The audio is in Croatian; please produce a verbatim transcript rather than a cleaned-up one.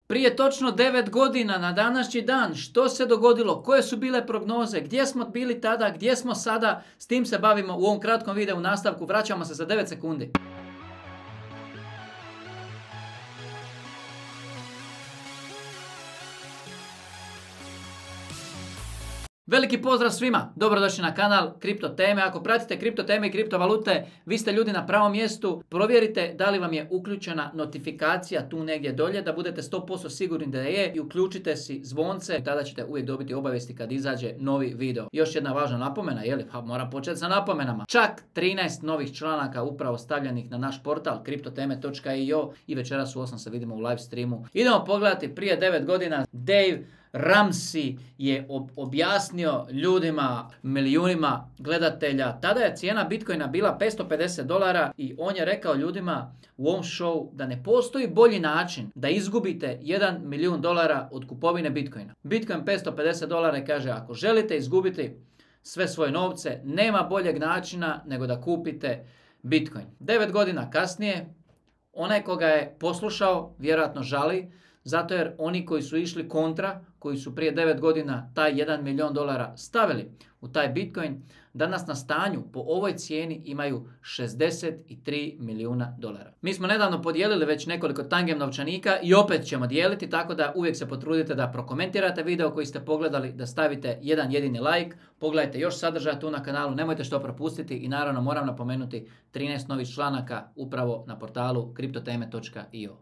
Prije točno devet godina na današnji dan što se dogodilo, koje su bile prognoze, gdje smo bili tada, gdje smo sada, s tim se bavimo u ovom kratkom videu u nastavku, vraćamo se za devet sekundi. Veliki pozdrav svima, dobrodošli na kanal Kripto teme. Ako pratite kripto teme i kriptovalute, vi ste ljudi na pravom mjestu. Provjerite da li vam je uključena notifikacija tu negdje dolje, da budete sto posto sigurni da je, i uključite si zvonce, tada ćete uvijek dobiti obavijesti kad izađe novi video. Još jedna važna napomena, je li? Pa moram početi sa napomenama. Čak trinaest novih članaka upravo stavljenih na naš portal kripto teme točka i o i večeras u osam se vidimo u live streamu. Idemo pogledati prije devet godina Dave Ramsey je objasnio ljudima, milijunima gledatelja. Tada je cijena Bitcoina bila petsto pedeset dolara i on je rekao ljudima u ovom showu da ne postoji bolji način da izgubite jedan milijun dolara od kupovine Bitcoina. Bitcoin petsto pedeset dolara i kaže, ako želite izgubiti sve svoje novce, nema boljeg načina nego da kupite Bitcoin. devet godina kasnije, onaj koga je poslušao vjerojatno žali, zato jer oni koji su išli kontra, koji su prije devet godina taj jedan milijun dolara stavili u taj Bitcoin, danas na stanju po ovoj cijeni imaju šezdeset tri milijuna dolara. Mi smo nedavno podijelili već nekoliko tangem novčanika i opet ćemo dijeliti, tako da uvijek se potrudite da prokomentirate video koji ste pogledali, da stavite jedan jedini like, pogledajte još sadržaja tu na kanalu, nemojte što propustiti i naravno moram napomenuti trinaest novih članaka upravo na portalu kripto teme točka i o.